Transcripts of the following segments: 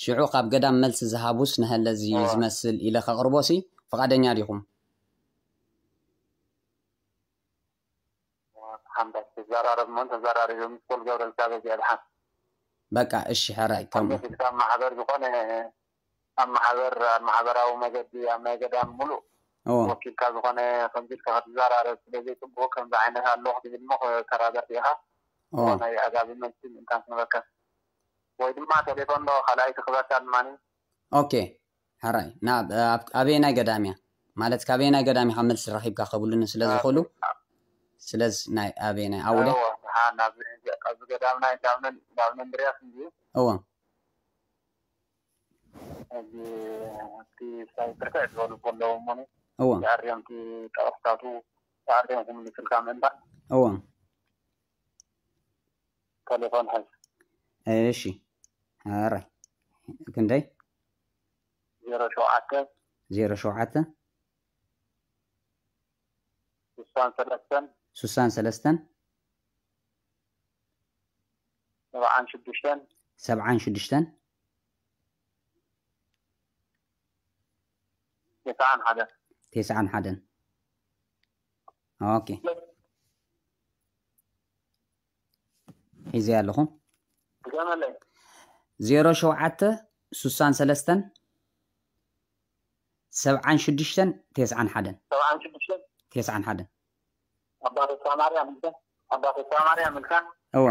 ሽዑ ካብ ገዳም መልሲ ዝሃቡስ ንሀለዚ ዝመስል ኢለ ከቕርቦሲ ፍቓደኛ ዲኹም? ሓምዳይ ትዘራረብ ሞ ተዘራሪቡ ምስ ገብረ እግዚኣብሔር እዚኣ ድሓን በቃ እሺ፣ ሕራይ ከም ከምዚ ኢልካ ኣብ ማሕበር ዝኾነ ኣብ ማሕበር ኣብ ማሕበራዊ መገዲ ኣብ ናይ ገዳም ሙሉእ እዎ ወኪልካ ዝኾነ ከምዚ ኢልካ ክትዘራረብ ስለ ዘይፅቡቅ ከምዚ ዓይነት ኣለኹ ትብል ሞ ከተራዳእ ኢኻ እዎ ናይ ኣጋቢ መልሲ ምእንታን ክነበከ ወይ ድማ ቴሌፎን ዶ ካልኣይ ትኽበካ ድማ ኦኬ፣ ሕራይ ናብ ኣብ- ኣበየናይ ገዳም እያ ማለት ካበየናይ ገዳም ኢኻ መልሲ ረኺብካ ከብሉኒ ስለ ዝኽእሉ ስለዚ ናይ ኣበየናይ ኣውደ ኣብዚ ገዳምና እንዳብነ እንዳብነ እንድርያስ እንዲ እዎ እዚ ኣብቲ ሳይት ብርክዕ ዝበሉ ዘለዉ እሞ እዎ ተኣርዮም እቲ ጠቕስታቱ ተኣርዮም ክምልስልካ ምእንታ እዎ ቴሌፎን ሕዝ እሺ፣ ሕራይ ክንደይ ዜሮ ሸውዓተ ዜሮ ሸውዓተ ስሳን ሰለስተን ስሳን ሰለስተን ሰብዓን ሽዱሽተን ሰብዓን ሽዱሽተን ተስዓን ሓደን ተስዓን ሓደን ኦኬ፣ ሒዘ ኣለኹ ድገመለይ ዜሮ ሸውዓተ ስሳን ሰለስተን ሰብዓን ሽዱሽተን ተስዓን ሓደን ሰብዓን ሽዱሽተን ተስዓን ሓደን ኣባ ተስፋ ማርያም ኢልካ ኣባ ተስፋ ማርያም ኢልካ እዎ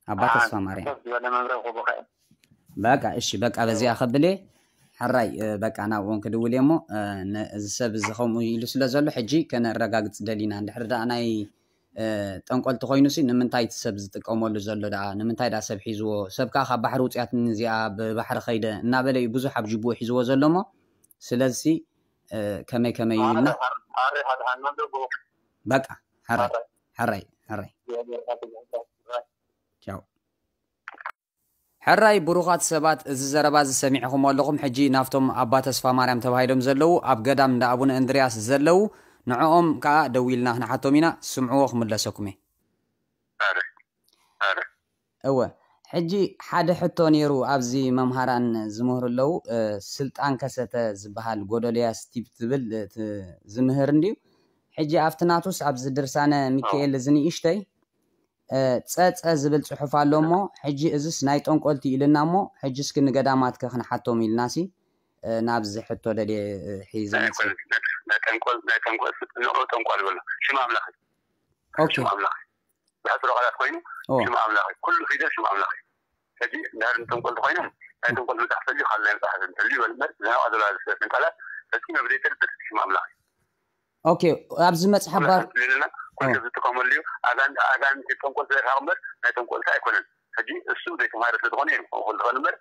ኣባ ተስፋ ማርያም ከፍ ዝበለ መምረ ክቡኸ በቃ እሺ በቃ በዚኣ ከብሌ ሕራይ በቃ ናብኦም ክድውል እየ እሞ እዚ ሰብ እዚ ከምኡ ኢሉ ስለ ዘሎ ሕጂ ከነረጋግፅ ደሊና እንድሕር ደኣ ናይ ጠንቆልቲ ኮይኑሲ ንምንታይ እቲ ሰብ ዝጥቀመሉ ዘሎ ደኣ ንምንታይ ደኣ ሰብ ሒዝዎ ሰብ ከዓ ካብ ባሕሪ ውፅያት እዚኣ ብባሕሪ ከይደ እናበለ እዩ ብዙሕ ኣብ ጅቡኡ ሒዝዎ ዘሎ እሞ ስለዚሲ ከመይ ከመይ እዩ ኢልና በቃ ሕራይ ሕራይ ሕራይ ቻው ሕራይ ብሩኻት ሰባት እዚ ዘረባ እዚ ሰሚዕኹም ኣለኹም ሕጂ ናብቶም ኣባ ተስፋ ማርያም ተባሂሎም ዘለዉ ኣብ ገዳም እንዳ ኣቡነ እንድርያስ ዘለዉ ንዕኦም ከዓ ደዊልና ክንሓቶም ኢና ስምዕዎ ክምለሰኩም እየ እወ ሕጂ ሓደ ሕቶ ነይሩ ኣብዚ መምሃራን ዝምህሩ ኣለዉ ስልጣን ከሰተ ዝበሃል ጎደልያ ስቲቭ ትብል ዝምህር እንድዩ ሕጂ ኣብቲ ናቱስ ኣብዚ ድርሳነ ሚካኤል እዚ ንእሽተይ ጸጸ ዝብል ጽሑፍ ኣሎ እሞ ሕጂ እዝስ ናይ ጠንቆልቲ ኢልና እሞ ሕጂ እስኪ ንገዳማትከ ክንሓቶም ኢልናሲ ናብዚ ሕቶ ደልየ ሒዘ ናይ ጠንቆል ናይ ጠንቆል ንዑ ጠንቋል ይበሎ ሽም ኣምላኽ ሽም ኣምላኽ ብሕፅሮ ቃላት ኮይኑ ሽም ኣምላኽ ኩሉ ፊደል ሽም ኣምላኽ ሕጂ እንድሕር ንጠንቆል ተኮይኖም ናይ ጠንቆል መፅሓፍ ተልዩ ካልእ ናይ መፅሓፍ ተልዩ ይበል እምበር ዝናውዓ ዘለዋ ዝስለትን ቃላት ፈፂመ ብዘይፈልጥ ሽም ኣምላኽ እዩ ኦኬ ኣብዚ መፅሓፍ ባር ልና ኩሉ ዝጥቀመሉ እዩ ኣጋንንቲ ጠንቆል ስለዝሓቕ እምበር ናይ ጠንቆልቲ ኣይኮነን ሕጂ እሱ ዘይተማሃረ ስለዝኾነ እዩ ክኾን ዝኽእል እምበር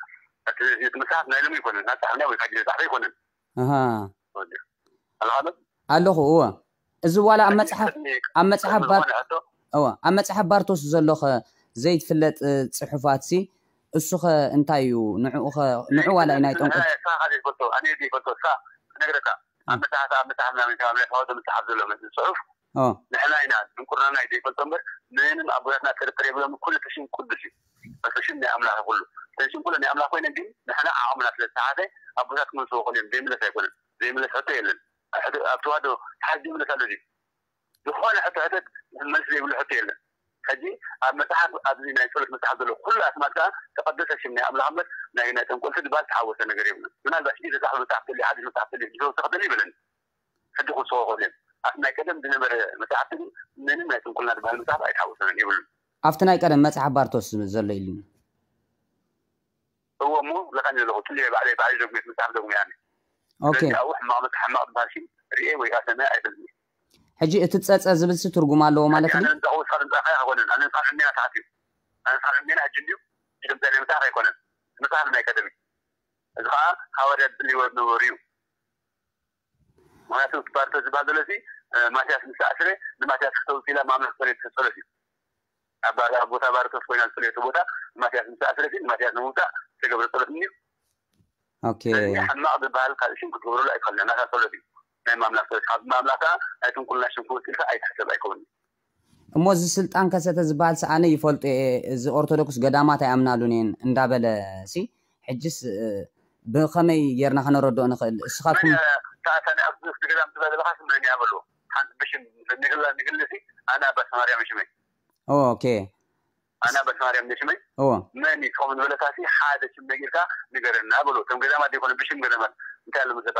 እቲ መፅሓፍ ናይ ሎሚ ኣይኮነን ናይ ፃሕፍና ወይ ካጅ ፃሕፈ ኣይኮነን ኣለኻዶ ኣለኹ እወ እዚ ዋላ ኣብ መፅሓፍ ኣብ መፅሓፍ ባር እወ ኣብ መፅሓፍ ባርቶስ ዘሎኸ ዘይትፍለጥ ፅሑፋት ሲ እሱኸ እንታይ እዩ ንዕኡ ኸ ንዑ ዋላ እዩ ናይ ጠንቁ ፈልጦ ኣነ ዘይፈልጦ ሳ ክነግረካ ኣብ መፅሓፍ ኣብ መፅሓፍ ናበይ ካብ ናይ ፋውዶ መፅሓፍ ዘሎ መፅእ ፅሑፍ ንሕና ኢና ድንቁርናና እዩ ዘይፈልጦ እምበር ምንም ኣቦታትና ጥርጥር የብሎም ኩሉ ተሽም ቅዱስ እዩ ተሽም ናይ ኣምላኽ ኩሉ ተሽም ኩሉ ናይ ኣምላኽ ኮይነ ግን ንሕና ዓቕምና ስለ ዝተሓተ ኣቦታት ክመልስዎ ክእል እዮም ዘይምለስ ኣይኮነን ዘይምለስ ሕቶ የለን ኣብ ተዋህዶ ሓዚ ዘይምለስ ኣሎ ድዩ ዝኾነ ሕቶ ሕተት መልሲ ዘይብሉ ሕቶ የለን ሕጂ ኣብ መፅሓፍ ኣብዚ ናይ ፀሎት መፅሓፍ ዘሎ ኩሉ ኣስማት ከዓ ተቀደሰ ሽም ናይ ኣምላኽ እምበር ናይ ናይ ጠንቆልቲ ድባል ተሓወሰ ነገር የብሉ ምናልባት ሕጂ ተፃሕፈ መፅሓፍ ተልዩ ሓዲሽ መፅሓፍ ተልዩ ዝሰው ተኸተል ይበለኒ ሕጂ ክስዎ ክእል እዮም ኣብ ናይ ቀደም ዝነበረ መፅሓፍቲ ግን ምንም ናይ ጥንቁልና ዝበሃል መፅሓፍ ኣይተሓወሰናን የብሉን ኣብቲ ናይ ቀደም መፅሓፍ ባርቶስ ዘሎ ኢሉኒ እዎ እሞ ለካኒ ዘለኹ ትልየ ባዕለይ ባዕለይ ዘጉሜት መፅሓፍ ዘጉሜ ኣነ ኦኬ ስለዚ ኣብኡ ሕማቕ መፅሓፍ ሕማቕ ዝበሃል ሽም ርኤ ወይ ከዓ ሰምዐ ኣይፈልጥን ሕጂ እቲ ፀፀ ዝብልሲ ትርጉም ኣለዎ ማለት እዩ ኣነ ንፃ ወስካ ንፃ ከ ኣይኮነን ኣነ ንፃ ዕሜና ሰዓት እዩ ኣነ ንፃ ዕሜና ሕጂ እንድዩ ድምፀ ናይ መፅሓፍ ኣይኮነን መፅሓፍ ናይ ቀደም እዩ እዚ ከዓ ሃዋርያ ዝፅልይዎ ዝነበሩ እዩ ምክንያቱ እቲ ባርቶስ ዝበሃል ዘሎ እዚ ማትያስ ምስ ተኣስረ ንማትያስ ክተውፅላ ማምላክ ፀሎት ጸሎት እዩ ኣብ ቦታ ባርቶስ ኮይና ዝፀለየቶ ቦታ ማትያስ ምስ ተኣስረ ግን ማትያስ ንምውፃእ ዝተገብረ ፀሎት እዩ ኦኬ ስለዚ ሕማቕ ዝበሃል ካልእ ሽም ክትገብረሉ ኣይትኽእልን ናታ ፀሎት እዩ ናይ ማምላክ ፀሎት ካብ ማምላክ ከዓ ናይ ትንኩልና ሽም ክወፅልካ ኣይትሕሰብ ኣይከውን እሞ እዚ ስልጣን ከሰተ ዝበሃል ሰኣነ ይፈልጡ እየ፣ እዚ ኦርቶዶክስ ገዳማት ኣይኣምናሉን እየን እንዳበለ ሲ፣ ሕጅስ ብኸመይ ጌርና ከነረድኦ ንኽእል? እስኻትኩም ታተነ ኣብ ገዳም ትበለኻስ መን ያበሉ ሓንቲ ብሽም ንግላ ንግልሲ ኣነ ኣባ ሰማርያ ምሽመይ ኦኬ ኣነ ኣባ ሰማርያ ምሽመይ ኦ መን ይትኸም ዝበለካሲ ሓደ ሽም ነጊርካ ንገረና በሉ። ከም ገዳማት ዘይኮነ ብሽም ገዳማት እንታይ ኣሎ መሰለካ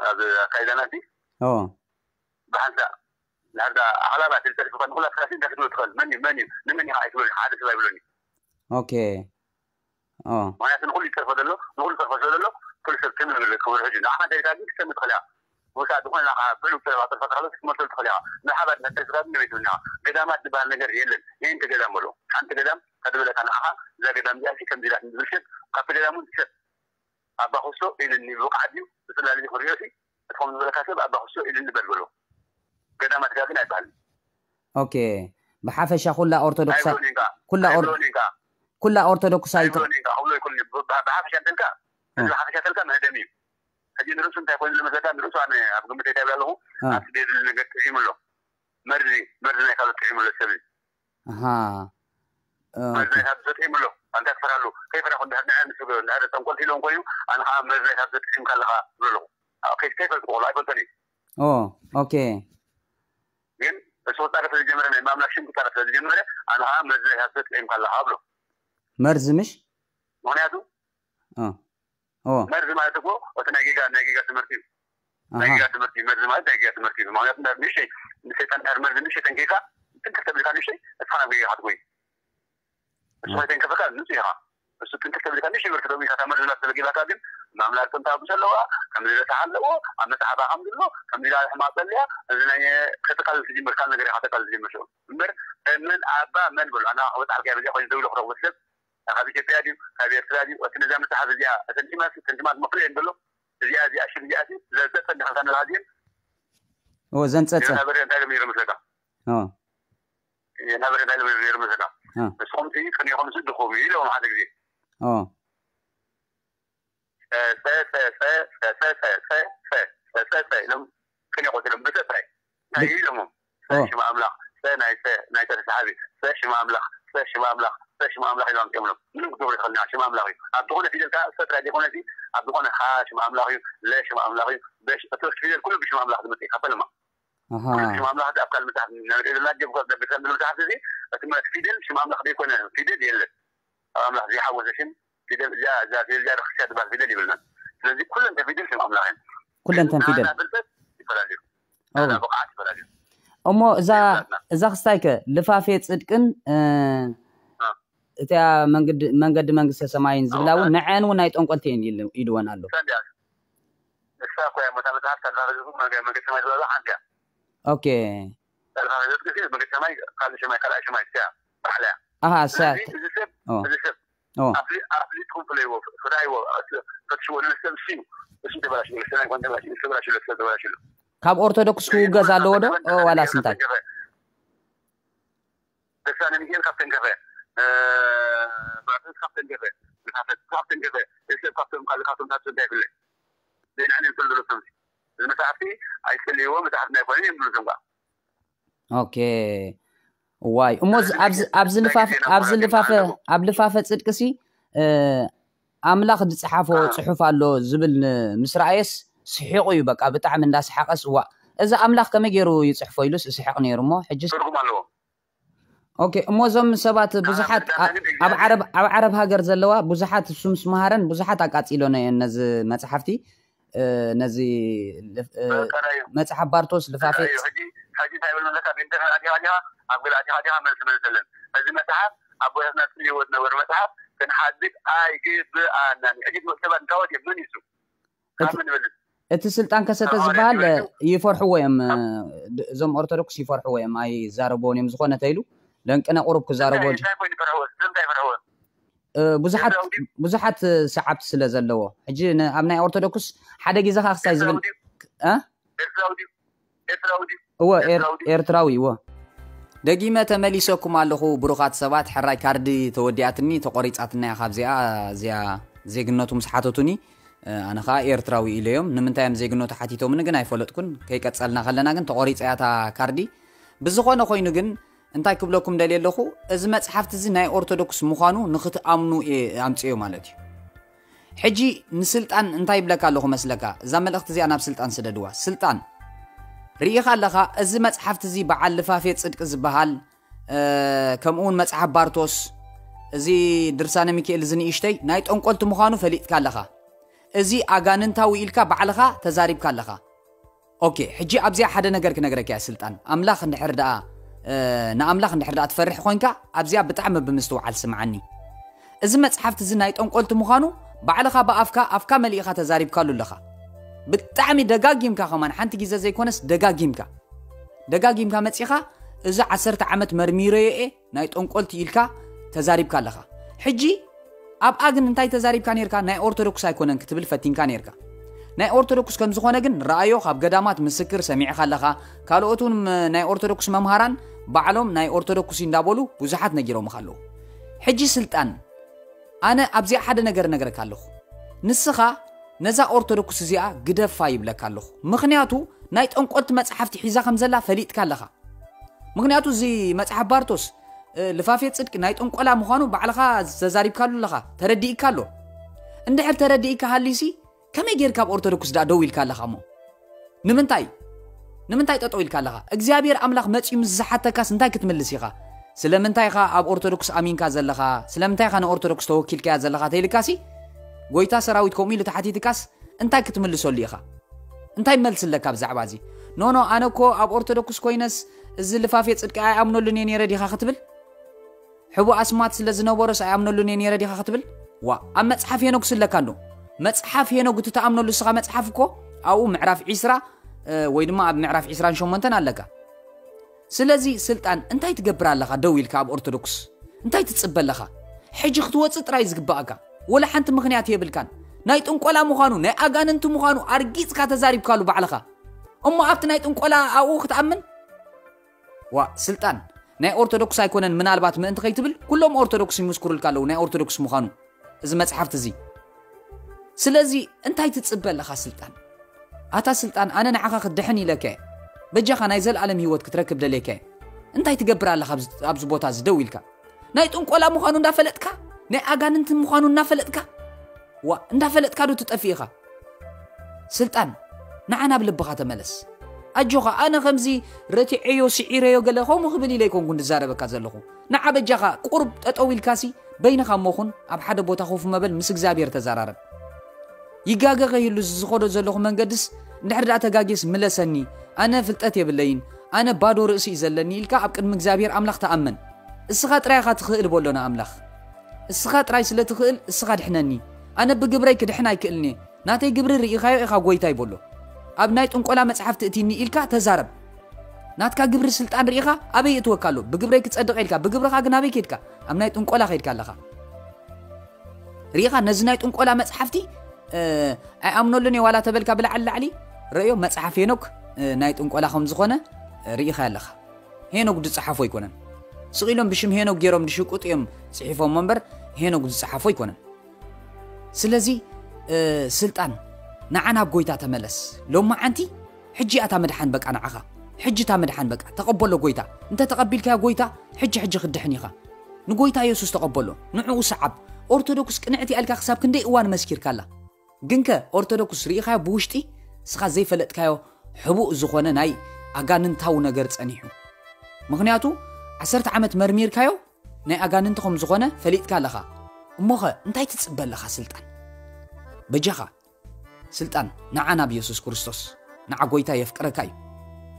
ኣብ ኣካይዳና ሲ ኦ ብሓንሳ ናርዳ ኣኽላባት ዝተልፍካ ንኩላ ስራሲ እንታይ ክትብል ትኽእል? መን እዩ መን እዩ ንመን ኢኻ ኣይትብሉን ሓደ ሰብ ኣይብሉን እዩ። ኦኬ ኦ ምክንያቱ ንኩሉ ይጠርፎ ዘሎ ንኩሉ ጠርፎ ስለ ዘሎ ኩሉ ሰብ ትም ክብሉ ሕጂ ንዓኻ እንታይ ኢልካ ግን ክትሰምዕ ትኽእል ኢኻ። ወሳ ዝኾነ ናኻ ብሉ ብሰለባ ጥርፋ ተኽለ ክትመልሰሉ ትኽእል ኢኻ። ንሓባር ነተስካ ግን ንቤት ብና ገዳማት ዝበሃል ነገር የለን። ይህን ገዳም በሎ ሓንቲ ገዳም ከድበለካ ንዓኻ እዛ ገዳም እዚኣ ሲ ከምዚ ኢላት ንዝብል ሰብ ካብቲ ገዳም እውን ትሰብ ኣባ ክሶ ኢልኒ ብብቕዓት ድዩ ብፅላል እዚ ክሪኦ ሲ እትኾም ዝበለካ ሰብ ኣባ ክሶ ኢልኒ በል በሎ። ገዳማት ጋ ግን ኣይበሃል። ኦኬ ብሓፈሻ ኩላ ኦርቶዶክሳ ኣይብሎን ኢንካ ኩላ ኦር- ኣይብሎን ኢንካ ኩላ ኦርቶዶክስ ኣይተ ኣይብሎን ኢንካ ክብሎ ይክእል እዩ። ብሓፈሻ ተልካ እዚ ሓፈሻ ተልካ መህደሚ እዩ። ሕጂ ንርእሱ እንታይ ኮይኑ ዝመሰለካ ንርእሱ ኣነ ኣብ ግምተይ ታይብል ኣለኹ እ። ኣብቲ ደድሊ ነገር ጥዒሙ ኣሎ። መርዚ መርዚ ናይ ካልኦት ጥዒሙ ኣሎ ሰብ እዩ። ኣሃ መርዚ ናይ ካልኦት ጥዒሙ ኣሎ። ኣንታ ክፈራሉ ከይፈራኹ እንድሕር ንዐ ምስ እንድሕር ጠንቆልቲ ኢሎም ኮይኑ ኣነ ከዓ መርዚ ናይ ካልኦት ጥዒምካ ኣለኻ ዝብሎ ኣለኹ። ከይፈልጡ ቆሎ ኣይፈልጠን እዩ። ኦ ኦኬ ግን እሱ ክፃረፍ ስለዝጀመረ ናይ ማምላክ ሽም ክፃረፍ ስለዝጀመረ ኣነ ከዓ መርዚ ናይ ካልኦት ጥዒምካ ኣለኻ ብሎ። መርዚ ምሽ ምክንያቱ ኦ ኦ መርዚ ማለት እኮ እቲ ናይ ጌጋ ናይ ጌጋ ትምህርቲ እዩ። ናይ ኣሃ ጌጋ ትምህርቲ እዩ። መርዚ ማለት ናይ ጌጋ ትምህርቲ እዩ። ምክንያቱ እንዳ ንእሽተይ ንሰይጣን ድሕር መርዚ ንእሽተይ ተንኪካ ትንክፍ ተብልካ ንእሽተይ እስኻ ናብ ጌጋ ክትጎይ እሱ እ። ከይተንከፈካ ንፁህ ኢኻ። እሱ ትንክፍ ተብልካ ንእሽተይ ብርክ ተብልካ እታ መርዚ ናብ ተበጊባካ ግን ማምላክ ጥንታ ብሰለዋ ከምዚ ረሳሕ ኣለዎ ኣብ መፅሓፋ ከም ዝብሎ ከምዚ ኢላ ሕማቅ ፀልያ እዚ ናይ ከተቃልል ትጅምር ካብ ነገር ኢኻ ተቃልል ትጅምር ሽዑ እምበር መን ኣባ መን በሉ ኣና ክበፅሓልካ በዚኣ ኮይኑ ደውሎ ክረኽቦ ሰብ ካብ ኢትዮጵያ ድዩ ካብ ኤርትራ ድዩ እቲ ነዛ መፅሓፍ እዚኣ እተን ቲማት እተን ቲማት መፍለየን ዘሎ እዚኣ እዚኣ ሽም እዚኣ ዘፀፀ እንዳኸልካ ንላሃዚን ኦ ዘንፀፀ ናበረ እንታይ ኢሎም ነይሮም መስለካ ኦ ናበረ እንታይ ኢሎም ነይሮም መስለካ እ። ንስኹም ሲ ቅኒኹም ሲ ድኹም እዩ ኢሎም ሓደ ግዜ ኦ ፀፀፀፀፀፀፀፀፀፀፀፀፀ ኢሎም ቅኔ ቆፂሎም ብፀ ጥራይ እንታይ እዩ ኢሎሞም ፀ ኦ። ሽማ ኣምላኽ ፀ ናይ ፀ ናይ ፀ ተሰሓቢ ፀ ሽማ ኣምላኽ ፀ ሽማ ኣምላኽ ፀ ሽማ ኣምላኽ ኢሎም ኣምፂኦምሎም ምንም ክትገብሩ ትኽእል ሽማ ኣምላኽ እዩ ኣብ ዝኾነ ፊደል ከዓ ፀ ጥራይ ዘይኮነ ሲ ኣብ ዝኾነ ሓ ሽማ ኣምላኽ እዩ ለ ሽማ ኣምላኽ እዩ በሽ እቲ ፊደል ኩሉ ብሽማ ኣምላኽ ዝመፅእ እዩ ካብ ፈለማ ኣሃ ኩሉ ሽማ ኣምላኽ እዚ ኣብ ካልእ መፅሓፍ ንሪኦ ዘለና ጀብኳ ቤተክርስትያን ዝብል መፅሓፍ እዚ እቲ ማለት ፊደል ሽማ ኣምላኽ ዘይኮነ ፊደል የለን ኣብ ኣምላኽ ዘይሓወሰ ሽም ፊደል እዚኣ እዛ ፊደል እዚኣ ርክስያ ትበሃል ፊደል ይብልና ስለዚ ኩለን ተፊደል ሽም ኣምላኽ እየን ኩለን ተን ፊደል ናና ፍልጠት ይፈላለዩ ኦ ናና ብቕዓት ይፈላለዩ እሞ እዛ እዛ ክስታይከ ልፋፌ ፅድቅን እ፣ እ። እቲያ መንገዲ መንገዲ መንግስተ ሰማይን ዝብላ እውን ንዐን እውን ናይ ጠንቆልቲ እየን ኢሉ- ኢልወን ኣሎ ሰንዲያ እሳ እኮ እያ መታ መፅሓፍ ካልፋ ህዝቡ መንገ- መንግስተ ሰማይ ዝበላ ሓንቲ እያ ኦኬ ካልፋ ህዝብ ጊዜ መንግስተ ሰማይ ካልእ ሰማይ ካልኣይ ሰማይ እያ ባዕላ እያ ኣሃ ስለዚ ሰ እዚ ሰብ ኦ እዚ ሰብ ኦ ኣፍሊ- ኣፍሊጥኩም ፍለይዎ ፍታይዎ ፈትሽዎ ንነሰብ እሱ እዩ እሱ ተበላሽሉ ሰማይ ኮን ተበላሽሉ ተበላሽሉ ሰብ ተበላሽሉ ካብ ኦርቶዶክስ ክውገዝ ኣለዎ ዶ ኦ ዋላስ እንታይ ደሳነ ሚካኤል ካብ ተንከፈ እ፣ ብራስስ ካብ ተንከፈ ዝካፈት ካብ ተንከፈ ሰብ ካብቶም ካልእ ካብቶም ታቱ እንታይ ይፍለ ዘይንዓን ይፍል ዘሎ ሰብ እዚ መጽሓፍቲ ኣይፈልይዎ መጽሓፍቲ ኣይኮነን እዮም ዝብሉ እዞም ከዓ ኦኬ ዋይ እሞ ኣብዚ- ኣብዚ- ኣብዚ ልፋፈ ኣብዚ ልፋፈ ኣብ ልፋፈ ፅድቅሲ እ፣ ኣምላኽ ዝፀሓፎ እ። ፅሑፍ ኣሎ ዝብል ን- ምስ ረኣየስ ስሒቑ እዩ በቃ ብጣዕሚ እንዳሰሓቐስ እዋ እዚ ኣምላኽ ከመይ ገይሩ ይፅሕፎ ኢሉስ ስሕቕ ነይሩ እሞ ሕጂ ትርጉም ኣለዎ ኦኬ እሞ እዞም ሰባት ብዙሓት ብዛዕባ ኣብ ዓረብ ኣብ ዓረብ ሃገር ዘለዋ ብዙሓት እሱ ምስ መሃረን ብዙሓት ኣቃፂሎን እየን ነዚ መፅሓፍቲ እ፣ ነዚ እ፣ በቃ እዩ መፅሓፍ ባርቶስ ልፋፌ እዩ ሕጂ ሕጂ እንታይ ብል መለካ ብኢንተርነት ኣዲኻ ዲኻ ኣብ ገለ ኣዲኻ ዲኻ መልስ መልሰለን እዚ መፅሓፍ ኣቦታትና ፅልይዎ ዝነበሩ መፅሓፍ ክንሓድግ ኣይግብኣናን እዩ ሕጂ ትምህርቲ ሰባት እንታወት እዮም መን ይሱ ካብ ምን ይበልፅ እቲ ስልጣን ከሰተ ዝበሃል ይፈርሕዎ እዮም እዞም ኦርቶዶክስ ይፈርሕዎ እዮም ኣይዛረብዎን እዮም ዝኾነ ተይሉ ለንቅነ ቁሩብ ክዛረብዎ እንታይ ኮይኑ ይፈርሕዎ እንታይ ይፈርሕዎ ብዙሓት ብዙሓት ሰዓብቲ ስለ ዘለዎ ሕጂ ኣብ ናይ ኦርቶዶክስ ሓደ ግዜ ካ ክሳይ ዝብል ኤርትራዊ ድዩ ኤርትራዊ ድዩ እወ ኤርትራዊ እወ ደጊመ ተመሊሰኩም ኣለኹ ብሩኻት ሰባት ሕራይ ካርዲ ተወዲኣትኒ ተቆሪፃትና እያ ካብዚኣ እዚኣ ዜግነቱ ምስ ሓተቱኒ ኣነ ከዓ ኤርትራዊ ኢለዮም ንምንታይ እዮም ዜግነቱ ሓቲቶምኒ ግን ኣይፈለጥኩን ከይቀፀልና ከለና ግን ተቆሪፀ እያ እታ ካርዲ ብዝኾነ ኮይኑ ግን እንታይ ክብለኩም ደልየ ኣለኹ? እዚ መጽሓፍቲ እዚ ናይ ኦርቶዶክስ ምዃኑ ንኽትኣምኑ እየ ኣምጽዮ ማለት እዩ። ሕጂ ንስልጣን እንታይ ይብለካ ኣለኹ መስለካ? እዛ መልእኽቲ እዚኣ ናብ ስልጣን ስደድዋ። ስልጣን፣ ርኢኻ ኣለኻ? እዚ መጽሓፍቲ እዚ በዓል ልፋፌ ጽድቂ ዝበሃል፣ እ፣ ከምኡ እውን መጽሓፍ ባርቶስ፣ እዚ ድርሳነ ሚካኤል እዚ ንእሽተይ ናይ ጠንቆልቲ ምዃኑ ፈሊጥካ ኣለኻ። እዚ ኣጋንንታዊ ኢልካ ባዕልኻ ተዛሪብካ ኣለኻ። ኦኬ፣ ሕጂ ኣብዚኣ ሓደ ነገር ክነግረካ እያ ስልጣን። ኣምላኽ እንድሕር ደኣ፣ እ፣ ንኣምላኽ እንድሕር ደኣ ትፈርሕ ኮይንካ፣ ኣብዚኣ ብጣዕሚ ብምስትውዓል ስምዓኒ። እዚ መጽሓፍቲ እዚ ናይ ጠንቆልቲ ምዃኑ ባዕልኻ ብኣፍካ፣ ኣፍካ መሊእኻ ተዛሪብካሉ ኣለኻ። ብጣዕሚ ደጋጊምካ ከማን፣ ሓንቲ ግዜ ዘይኮነስ ደጋጊምካ። ደጋጊምካ መጺኻ፣ እዚ ዓሰርተ ዓመት መርሚረዮ እየ፣ ናይ ጠንቆልቲ ኢልካ ተዛሪብካ ኣለኻ። ሕጂ ኣብኣ ግን እንታይ ተዛሪብካ ነርካ? ናይ ኦርቶዶክስ ኣይኮነን ክትብል ፈቲንካ ነርካ። ናይ ኦርቶዶክስ ከም ዝኾነ ግን ረኣዮ፣ ካብ ገዳማት ምስክር ሰሚዕኻ ኣለኻ። ካልኦት እውን ም-፣ ናይ ኦርቶዶክስ መምሃራን ባዕሎም ናይ ኦርቶዶክስ እዩ እንዳበሉ ብዙሓት ነጊሮምኻ ኣለዉ። ሕጂ ስልጣን፣ ኣነ ኣብዚኣ ሓደ ነገር እነግረካ ኣለኹ። ንስኻ ነዛ ኦርቶዶክስ እዚኣ ግደፋ ይብለካ ኣለኹ። ምኽንያቱ ናይ ጠንቆልቲ መጽሓፍቲ ሒዛ ከም ዘላ ፈሊጥካ ኣለኻ። ምኽንያቱ እዚ መጽሓፍ ባርቶስ፣ እ፣ ልፋፌ ጽድቂ ናይ ጥንቆላ ምዃኑ ባዕልኻ ተዛሪብካሉ ኣለኻ፣ ተረዲእካ ኣሎ። እንድሕር ተረዲእካ ሃልዩሲ፣ ከመይ ጌርካ ኣብ ኦርቶዶክስ ደኣ ደው ኢልካ ኣለኻ እሞ? ንምንታይ? ንምንታይ ጠጠው ኢልካ ኣለኻ? እግዚኣብሔር ኣምላኽ መጺኡ ምስ ዝሓተካስ እንታይ ክትምልስ ኢኻ? ስለምንታይ ኢኻ ኣብ ኦርቶዶክስ ኣሚንካ ዘለኻ? ስለምንታይ ኢኻ ንኦርቶዶክስ ተወኪልካያ ዘለኻ ተይልካሲ፣ ጎይታ ሰራዊት ከምኡ ኢሉ ተሓቲትካስ እንታይ ክትምልሰሉ ኢኻ? እንታይ መልሲ ኣለካ ብዛዕባ እዚ? ኖ፣ ኖ፣ ኣነ እኮ ኣብ ኦርቶዶክስ ኮይነስ እዚ ልፋፌ ጽድቂ ኣይኣምነሉን እየ ነይረ ዲኻ ክትብል? ሕቡእ ኣስማት ስለ ዝነበሮስ ኣይኣምነሉን እየ ነይረ ዲኻ ክትብል? ዋ፣ ኣብ መጽሓፍ ሄኖግ ስለካ እንዶ። መጽሓፍ ሄኖግ እቲ ትኣምነሉ እስኻ መጽሓፍ እኮ ኣብኡ ምዕራፍ ዒስራ፣ እ፣ ወይ ድማ ኣብ ምዕራፍ ዒስራን ሸሞንተን ኣለካ። ስለዚ ስልጣን እንታይ ትገብር ኣለኻ ደው ኢልካ ኣብ ኦርቶዶክስ? እንታይ ትጽበ ኣለኻ? ሕጂ ክትወጽእ ጥራይ ዝግባኣካ። ወላ ሓንቲ ምኽንያት የብልካን። ናይ ጥንቆላ ምዃኑ፣ ናይ ኣጋንንቲ ምዃኑ ኣርጊጽካ ተዛሪብካሉ ባዕልኻ። እሞ ኣብቲ ናይ ጥንቆላ ኣብኡ ክትኣምን? ዋ፣ ስልጣን፣ ናይ ኦርቶዶክስ ኣይኮነን ምናልባት ምእንቲ ከይትብል፣ ኩሎም ኦርቶዶክስ ይምስክሩልካ ኣለዉ ናይ ኦርቶዶክስ ምዃኑ እዚ መጽሓፍቲ እዚ። ስለዚ እንታይ ትጽበ ኣለኻ ስልጣን? ኣታ ስልጣን፣ ኣነ ንዓኻ ክትድሕን ኢለካ እየ። በጃኻ ናይ ዘለኣለም ህይወት ክትረክብ ደልየካ እየ። እንታይ ትገብር ኣለኻ ኣብዚ፣ ኣብዚ ቦታ እዚ ደው ኢልካ? ናይ ጥንቆላ ምዃኑ እንዳፈለጥካ፣ ናይ ኣጋንንቲ ምዃኑ እናፈለጥካ፣ ዋ፣ እንዳፈለጥካ ዶ ትጠፍእ ኢኻ? ስልጣን፣ ንዓ ናብ ልብኻ ተመለስ። ኣጆኻ፣ ኣነ ከምዚ ረቲዐዮ፣ ስዒረዮ ገለ ከምኡ ክብል ኢለ ኣይኮንኩን ዝዛረበካ ዘለኹ። ንዓ በጃኻ ቁሩብ ጠጠው ኢልካሲ በይንኻ እሞ ኹን፣ ኣብ ሓደ ቦታ ኮፍ መበል ምስ እግዚኣብሔር ተዘራረብ። ይጋገ ከይህሉ እዚ ዝኸዶ ዘለኹ መንገድስ እንድሕር ደኣ ተጋግየስ ምለሰኒ፣ ኣነ ፍልጠት የብለይን፣ ኣነ ባዶ ርእሲ እዩ ዘለኒ ኢልካ ኣብ ቅድሚ እግዚኣብሔር ኣምላኽ ተኣመን። እስኻ ጥራይ ኢኻ ትኽእል በሎ ንኣምላኽ። እስኻ ጥራይ ስለ ትኽእል እስኻ ድሕነኒ። ኣነ ብግብረይ ክድሕን ኣይክእልን እየ። ናተይ ግብሪ ርኢኻዮ ኢኻ ጎይታይ በሎ። ኣብ ናይ ጥንቆላ መጽሓፍቲ እቲኒ ኢልካ ተዛረብ። ናትካ ግብሪ ስልጣን ርኢኻ ኣበይ የእትወካ ኣሎ? ብግብረይ ክጸድቕ ኢልካ፣ ብግብርኻ ግን ኣበይ ከድካ? ኣብ ናይ ጥንቆላ ከድካ ኣለኻ። ርኢኻ ነዚ ናይ ጥንቆላ መጽሓፍቲ፣ እ፣ ኣይኣምነሉን እየ ዋላ ተበልካ ብላዕሊ ላዕሊ፣ ረእዮ መጽሓፍ ሄኖክ፣ እ፣ ናይ ጥንቆላ ከም ዝኾነ፣ እ፣ ርኢኻ ኣለኻ። ሄኖክ ዝጸሓፎ ኣይኮነን። ስቕ ኢሎም ብሽም ሄኖክ ገይሮም ዝሽቅጡ እዮም ጽሒፎም እምበር ሄኖክ ዝጸሓፎ ኣይኮነን። ስለዚ፣ እ፣ ስልጣን፣ ንዓ ናብ ጎይታ ተመለስ። ሎማዓንቲ ሕጂ እያ እታ ምድሓን በቃ ንዓኻ። ሕጂ እታ ምድሓን በቃ። ተቐበሎ ጎይታ። እንተ ተቐቢልካዮ ጎይታ፣ ሕጂ ሕጂ ክትድሕን ኢኻ። ንጎይታ የሱስ ተቐበሎ። ንዕኡ ሰዓብ። ኦርቶዶክስ ቅንዕቲ እያ ኢልካ ክሳብ ክንደይ እዋን መስኪርካላ። ግንከ ኦርቶዶክስ ርኢኻዮ ብውሽጢ እስኻ ዘይፈለጥካዮ ሕቡእ ዝኾነ ናይ ኣጋንንታዊ ነገር ጸኒሑ። ምኽንያቱ ዓሰርተ ዓመት መርሚርካዮ ናይ ኣጋንንቲ ከም ዝኾነ ፈሊጥካ ኣለኻ። እሞኸ እንታይ ትጽበ ኣለኻ ስልጣን? በጃኻ ስልጣን፣ ንዓ ናብ የሱስ ክርስቶስ። ንዓ ጎይታ የፍቅረካ እዩ።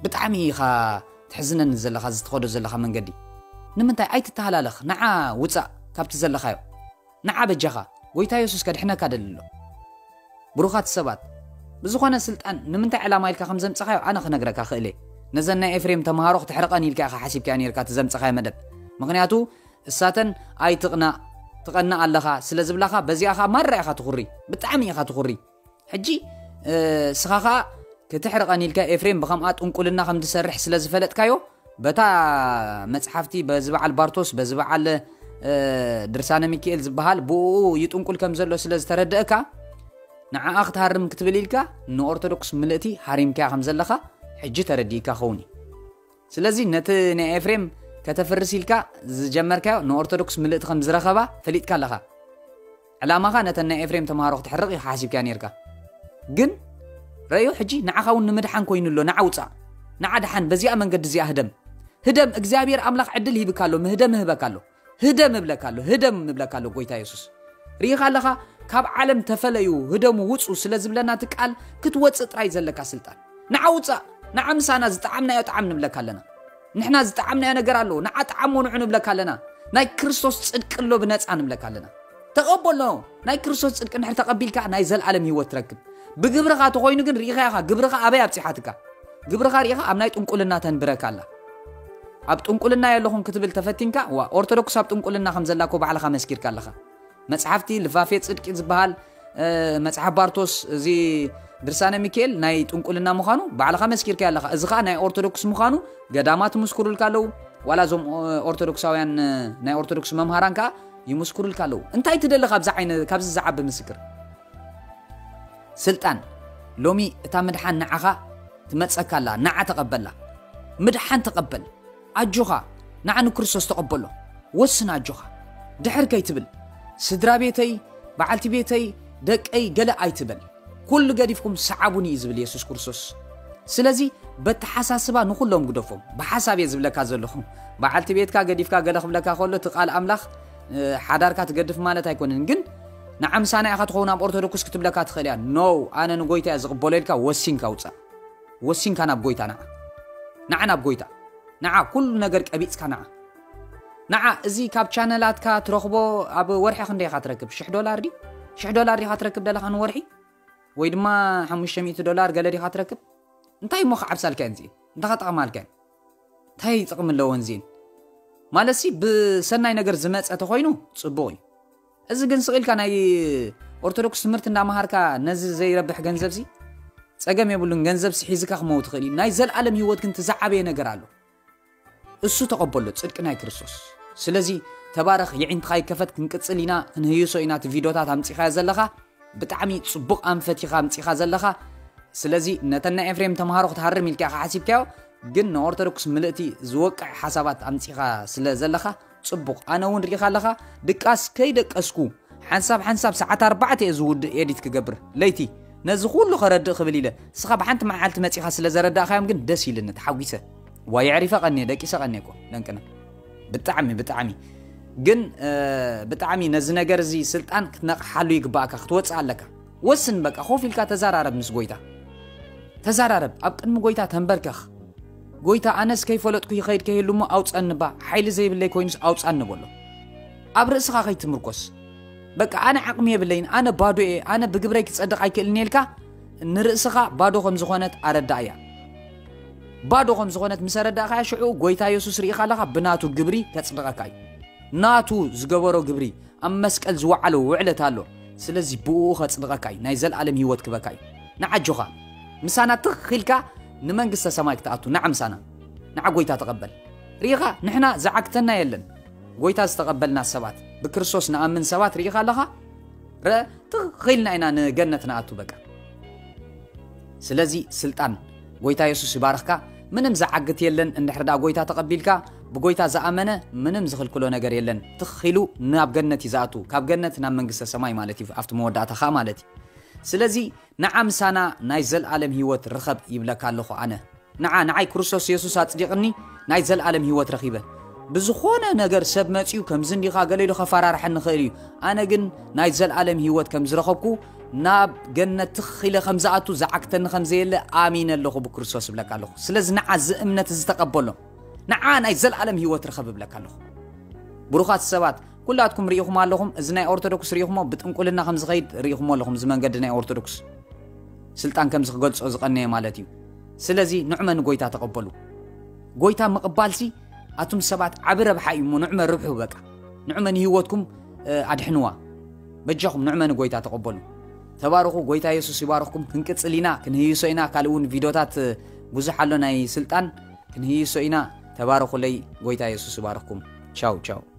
ብጣዕሚ ኢኻ ትሕዝነኒ ዘለኻ፣ እዚ ትኸዶ ዘለኻ መንገዲ። ንምንታይ ኣይትተሃላለኽ? ንዓ ውጻእ ካብቲ ዘለኻዮ። ንዓ በጃኻ፣ ጎይታ የሱስ ከድሕነካ ደሊ ኣሎ። ብሩኻት ሰባት፣ ብዝኾነ ስልጣን ንምንታይ ዕላማ ኢልካ ከም ዘምጻኻዮ ኣነ ክነግረካ ክእል እየ። ነዘን ናይ ኤፍሬም ተምሃሮ ክትሕርቐን ኢልካ ኢኻ ሓሲብካዮ ኔርካ እቲ ዘምጻኻዮ መደብ። ምኽንያቱ እሳተን ኣይትቕናእ፣ ትቐንእ ኣለኻ ስለ ዝብላኻ፣ በዚኣ ኸኣ ማራ ኢኻ ትኹሪ፣ ብጣዕሚ ኢኻ ትኹሪ። ሕጂ፣ እ፣ እስኻ ኸኣ ክትሕርቐን ኢልካ ኤፍሬም ብኸምኣ ጥንቁልና ከም ዝሰርሕ ስለ ዝፈለጥካዮ፣ በታ መጽሓፍቲ በዚ በዓል ባርቶስ፣ በዚ በዓል፣ እ፣ ድርሳነ ሚካኤል ዝበሃል ብኡ ይጥንቁል ከም ዘሎ ስለ ዝተረደእካ፣ ንዓኣ ክትሃርም ክትብል ኢልካ ንኦርቶዶክስ ምልእቲ ሃሪምካያ ከም ዘለኻ ሕጂ ተረዲእካ ኸውን እዩ። ስለዚ ነቲ ናይ ኤፍሬም ከተፍርስ ኢልካ ዝጀመርካዮ ንኦርቶዶክስ ምልእቲ ከም ዝረኸባ ፈሊጥካ ኣለኻ። ዕላማኻ ነተን ናይ ኤፍሬም ተምሃሮ ክትሕርቕ ኢኻ ሓሲብካ ነርካ። ግን ረዮ ሕጂ ንዓኻ እውን ንምድሓን ኮይኑ ኣሎ። ንዓ ውፃእ፣ ንዓ ድሓን፣ በዚኣ መንገዲ እዚኣ ህደም። ህደም፣ እግዚኣብሔር ኣምላኽ ዕድል ሂብካ ኣሎ፣ ምህደም ምህበካ ኣሎ። ህደም እብለካ ኣሎ፣ ህደም እብለካ ኣሎ ጎይታ የሱስ። ርኢኻ ኣለኻ፣ ካብ ዓለም ተፈለዩ፣ ህደሙ ውፁ ስለ ዝብለና እቲ ቃል ክትወፅእ ጥራይ ዘለካ ስልጣን። ንዓ ውፃእ፣ ንዓ ምሳና ዝጠዓምናዮ ጣዕም ንብለካ ኣለና። ንሕና ዝጠዓምናዮ ነገር ኣሎ፣ ንዓ ጠዓሞ ንዑ ንብለካ ኣለና። ናይ ክርስቶስ ጽድቂ ኣሎ ብነጻ ንብለካ ኣለና። ተቐበሎ። ናይ ክርስቶስ ጽድቂ እንድሕር ተቐቢልካ ናይ ዘልኣለም ህይወት ትረክብ። ብግብርኻ ተኾይኑ ግን ርኢኻ ኢኻ፣ ግብርኻ ኣበይ ኣብጺሓትካ? ግብርኻ ርኢኻ ኣብ ናይ ጥንቁልና ተንብረካ ኣላ። ኣብ ጥንቁልና የለኹን ክትብል ተፈቲንካ፣ ዋ፣ ኦርቶዶክስ ኣብ ጥንቁልና ከም ዘላ እኮ ባዕልኻ መስኪርካ ኣለኻ። መጽሓፍቲ ልፋፌ ጽድቂ ዝበሃል፣ እ፣ መጽሓፍ ባርቶስ፣ እዚ ድርሳነ ሚካኤል ናይ ጥንቁልና ምዃኑ ባዕልኻ መስኪርካ ኣለኻ። እዚ ኸኣ ናይ ኦርቶዶክስ ምዃኑ ገዳማት ይምስክሩልካ ኣለዉ። ዋላ እዞም፣ ኦ-፣ ኦርቶዶክሳውያን፣ እ፣ ናይ ኦርቶዶክስ መምሃራን ከኣ ይምስክሩልካ ኣለዉ። እንታይ ትደሊ ካብዚ ዓይነ-፣ ካብዚ ዝዓቢ ምስክር? ስልጣን፣ ሎሚ እታ ምድሓን ንዓኻ ትመጸካ ኣላ፣ ንዓ ተቐበላ። ምድሓን ተቐበል። ኣጆኻ፣ ንዓ ንክርስቶስ ተቐበሎ። ወስን ኣጆኻ። ድሕር ከይትብል። ስድራ ቤተይ፣ በዓልቲ ቤተይ፣ ደቀይ፣ ገለ ኣይትበል። ኩሉ ገዲፍኩም ሰዓቡኒ እዩ ዝብል የሱስ ክርስቶስ። ስለዚ በተሓሳስባ ንኹሎም ግደፎም። ብሓሳብ እየ ዝብለካ ዘለኹ። በዓልቲ ቤትካ ገዲፍካ ገለ ክብለካ ከሎ እቲ ቃል ኣምላኽ፣ እ፣ ሓዳርካ ትገድፍ ማለት ኣይኮነን። ግን ንዓ ምሳና ኢኻ ትኸውን ኣብ ኦርቶዶክስ ክትብለካ ትኽእል እያ። ኖ፣ ኣነ ንጎይታ እየ ዝቕበሎ ኢልካ ወሲንካ ውጻእ። ወሲንካ ናብ ጎይታ ንዓ። ንዓ ናብ ጎይታ። ንዓ ኩሉ ነገር ቀቢጽካ ንዓ። ንዓ እዚ ካብ ቻነላትካ ትረኽቦ ኣብ ወርሒ ክንደይ ኢኻ ትረክብ? ሽሕ ዶላር ድዩ? ሽሕ ዶላር ዲኻ ትረክብ ደለኻ ንወርሒ? ወይ ድማ ሓሙሽተ ሚእቲ ዶላር ገለ ዲኻ ትረክብ? እንታይ እሞ ክዓብሳልካ እየን እዚኤን? እንታይ ክጠቕማልካ እየን? እንታይ ጥቕሚ ኣለወን እዚኤን? ማለትሲ ብሰናይ ነገር ዝመጸ ተኾይኑ ጽቡቕ እዩ። እዚ ግን ስቕ ኢልካ ናይ ኦርቶዶክስ ትምህርቲ እንዳመሃርካ ነዚ ዘይረብሕ ገንዘብሲ ጸገም የብሉን። ገንዘብሲ ሒዝካ ክመው ትኽእል እዩ። ናይ ዘልኣለም ህይወት ግን እቲ ዝዓበየ ነገር ኣሎ። እሱ ተቐበሎ፣ ጽድቂ ናይ ክርስቶስ። ስለዚ ተባረኽ፣ የዒንትኻ ይከፈት፣ ክንቅጽል ኢና፣ ክንህይሶ ኢና። እቲ ቪድዮታት ኣምጺኻዮ ዘለኻ ብጣዕሚ ጽቡቕ ኣንፈት ኢኻ ኣምጺኻ ዘለኻ። ስለዚ ነተን ናይ ኤፍሬም ተምሃሮ ክትሃርም ኢልካ ኢኻ ሓሲብካዮ፣ ግን ንኦርቶዶክስ ምልእቲ ዝወቅዕ ሓሳባት ኣምጺኻ ስለ ዘለኻ ጽቡቕ። ኣነ እውን ሪኢኻ ኣለኻ፣ ድቃስ ከይደቀስኩ ሓንሳብ ሓንሳብ ሰዓት ኣርባዕተ እየ ዝውድእ ኤዲት ክገብር። ለይቲ ነዚ ኩሉ ከረድእ ክብል ኢለ፣ እስኻ ብሓንቲ መዓልቲ መጺኻ ስለ ዘረዳእካዮም ግን ደስ ኢልኒ፣ ተሓጒሰ። ዋ የዕሪፈ ቀንየ፣ ደቂሰ ቀንየ እኮ፣ ደንቅነ። ብጣዕሚ፣ ብጣዕሚ። ግን፣ እ፣ ብጣዕሚ ነዚ ነገር እዚ ስልጣን ክትነቕሓሉ ይግባእካ፣ ክትወጽእ ኣለካ። ወስን በቃ፣ ኮፍ ኢልካ ተዘራረብ ምስ ጎይታ። ተዘራረብ፣ ኣብ ቅድሚ ጎይታ ተንበርከኽ። ጎይታ ኣነስ ከይፈለጥኩ ይኸይድ ከይህሉ እሞ ኣውጸኒ ባ፣ ሓይሊ ዘይብለይ ኮይኑስ ኣውጻኒ በሎ። ኣብ ርእስኻ ከይትምርኮስ። በቃ ኣነ ዓቕሚ የብለይን፣ ኣነ ባዶ እየ፣ ኣነ ብግብረይ ክጸድቕ ኣይክእልን ኢልካ ንርእስኻ ባዶ ከም ዝኾነት ኣረዳእያ። ባዶ ከም ዝኾነት ምስ ኣረዳእኻያ ሽዑ ጎይታ የሱስ ርኢኻ ኣለኻ ብናቱ ግብሪ ከጽድቐካ እዩ። ናቱ ዝገበሮ ግብሪ፣ ኣብ መስቀል ዝወዓሎ ውዕለት ኣሎ። ስለዚ ብእኡ ከጽድቐካ እዩ፣ ናይ ዘልኣለም ህይወት ክበካ እዩ። ንዓጆኻ ምሳና ትኽ ኢልካ ንመንግስተ ሰማይ ክትኣቱ ንዓ ምሳና። ንዓ ጎይታ ተቐበል። ርኢኻ ንሕና ዝዓግተና የለን። ጎይታ ዝተቐበልና ሰባት፣ ብክርስቶስ ንኣምን ሰባት ርኢኻ ኣለኻ? ረ ትኽ ኢልና ኢና ንገነት ንኣቱ በቃ። ስለዚ ስልጣን፣ ጎይታ የሱስ ይባርኽካ። ምንም ዝዓግት የለን። እንድሕር ደኣ ጎይታ ተቐቢልካ፣ ብጎይታ ዝኣመነ ምንም ዝኽልክሎ ነገር የለን። ትኽ ኢሉ ናብ ገነት እዩ ዝኣቱ፣ ካብ ገነት ናብ መንግስተ ሰማይ ማለት እዩ፣ ኣብቲ መወዳእታ ኸኣ ማለት እዩ። ስለዚ ንዓ ምሳና ናይ ዘልኣለም ህይወት ርኸብ ይብለካ ኣለኹ ኣነ። ንዓ፣ ንዓይ ክርስቶስ የሱስ ኣጽዲቕኒ፣ ናይ ዘልኣለም ህይወት ረኺበ። ብዝኾነ ነገር ሰብ መጺኡ ከምዚ እንዲኻ ገለ ኢሉ ከፈራርሐኒ ይኽእል እዩ። ኣነ ግን ናይ ዘልኣለም ህይወት ከም ዝረኸብኩ፣ ናብ ገነት ትኽ ኢለ ከም ዝኣቱ ዝዓግተኒ ከም ዘየለ ኣሚነ ኣለኹ ብክርስቶስ እብለካ ኣለኹ። ስለዚ ንዓ እዚ እምነት እዚ ተቐበሎ። ንዓ ናይ ዘልኣለም ህይወት ርኸብ እብለካ ኣለኹ። ብሩኻት ሰባት፣ ኩላትኩም ርኢኹም ኣለኹም፣ እዚ ናይ ኦርቶዶክስ ርኢኹሞ ብጥንቁልና ከም ዝኸይድ ርኢኹሞ ኣለኹም፣ እዚ መንገዲ ናይ ኦርቶዶክስ። ስልጣን ከምዚ ክገልጾ ዝቐነየ ማለት እዩ። ስለዚ ንዕመ ንጎይታ ተቐበሉ። ጎይታ ምቕባልሲ ኣቱም ሰባት ዓቢ ረብሓ እዩ እሞ ንዕመ ርብሑ በቃ። ንዕመ ንህይወትኩም፣ እ፣ ኣድሕንዋ። በጃኹም ንዕመ ንጎይታ ተቐበሉ። ተባረኹ፣ ጎይታ የሱስ ይባርኽኩም። ክንቅጽል ኢና፣ ክንህይሶ ኢና፣ ካልእ እውን ቪድዮታት፣ እ፣ ብዙሕ ኣሎ ናይ ስልጣን፣ ክንህይሶ ኢና። ተባረኹለይ፣ ጎይታ የሱስ ይባርኽኩም። ቻው ቻው።